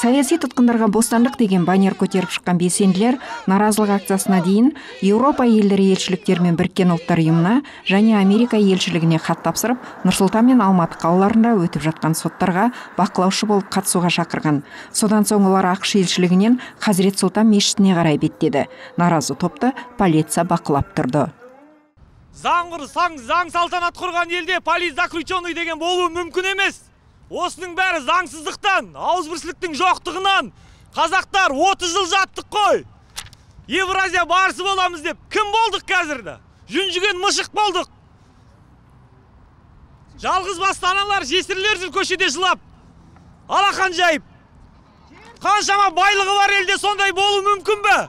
Саяси тұтқындарға бостандық деген баннер көтеріп шыққан белсенділер наразылық акциясына дейін Еуропа елдері елшіліктерімен Біріккен ұлттар ұйымына және Америка елшілігіне хат тапсырып, Нұр-Сұлтан мен Алматы қалаларында өтіп жатқан соттарға бақылаушы болып қатысуға шақырған. Содан соң олар ақш елшілігінен Хазірет Сұлтан мешітіне қарай беттеді. Наразы топты полиция бақылап тұрды. Заң салтанат құрған елде политзаключенный деген болуы мүмкін емес. Осының бәрі заңсыздықтан, ауызбіршіліктің жоқтығынан. Қазақтар 30 жыл жаттық қой. Евразия барысы боламыз деп кім болдық қазірді? Жүнжіген мышық болдық. Жалғыз басты аналар, жесірлер жүр көшеде жылап, алақан жайып. Қаншама байлығы бар елде сондай болу мүмкін бе?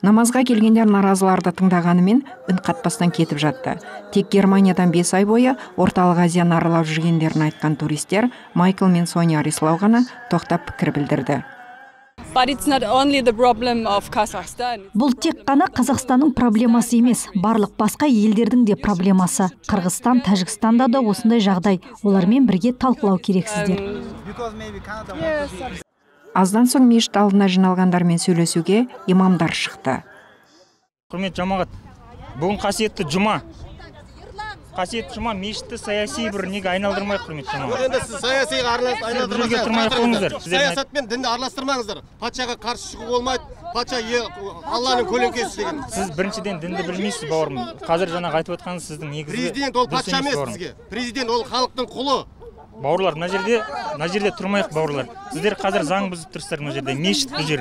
Намазға келгендер наразыларды тыңдағанымен үн қатпастан кетіп жатты. Тек Германиядан 5 ай бойы орталық Азияны аралап жүргендерін айтқан туристер Майкл мен Соня Арислау ғана тоқтап пікір білдірді. Бұл тек қана Қазақстанның проблемасы емес, барлық басқа елдердің де проблемасы. Қырғызстан, Тәжікстанда да осындай жағдай. Олармен бірге талқылау керексіздер. Аздан соң мешіт алдына жиналғандармен сөйлесуге имамдар шықты. Құрметті жамағат, бүгін қасиетті жұма. Қасиетті жұма мешітті саяси бір неге айналдырмай, құрметті жамағат. Енді сіз саясиға айналдырмай. Саясат мен дінді араластырмаңыздар. Патшаға қарсы шығу болмайды. Патша Алланың көлеңкесі деген. Сіз біріншіден дінді білмейсіз, бауырым. Қазір жаңа айтып отырғаныңыз сіздің негізгі. Президент ол патша емес бізге. Президент ол халықтың құлы. Бауырлар, мына жерде тұрмайық, бауырлар. Сіздер қазір заң бұзып тұрсыздар, мына жерде мешіт бұл жер.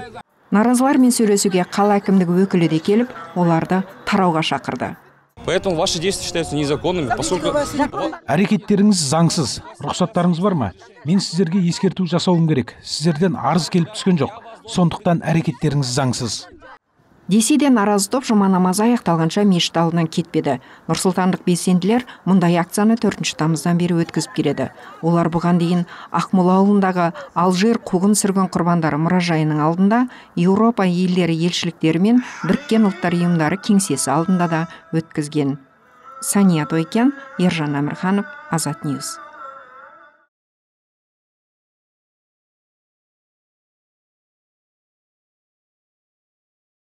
Наразылармен сөйлесуге қала әкімдігі өкілі де келіп, оларды тарауға шақырды. Поэтому ваши действия считаются незаконными, поскольку әрекеттеріңіз заңсыз. Рұқсаттарыңыз бар ма? Мен сіздерге ескерту жасауым керек. Сіздерден арыз келіп түскен жоқ. Сондықтан әрекеттеріңіз заңсыз. Десе де наразы топ жұма намазы аяқталғанша мешіт алдынан кетпеді. Нұрсұлтандық белсенділер мұндай акцияны 4 тамыздан бері өткізіп келеді. Олар бұған дейін Ақмола ауылындағы Алжир қуғын сүргін құрбандары мұражайының алдында, Еуропа елдері елшіліктері мен Біріккен ұлттар ұйымдары кеңсесі алдында да өткізген. Сания Тойкен, Ержан Әмірханов, Азат Ньюс.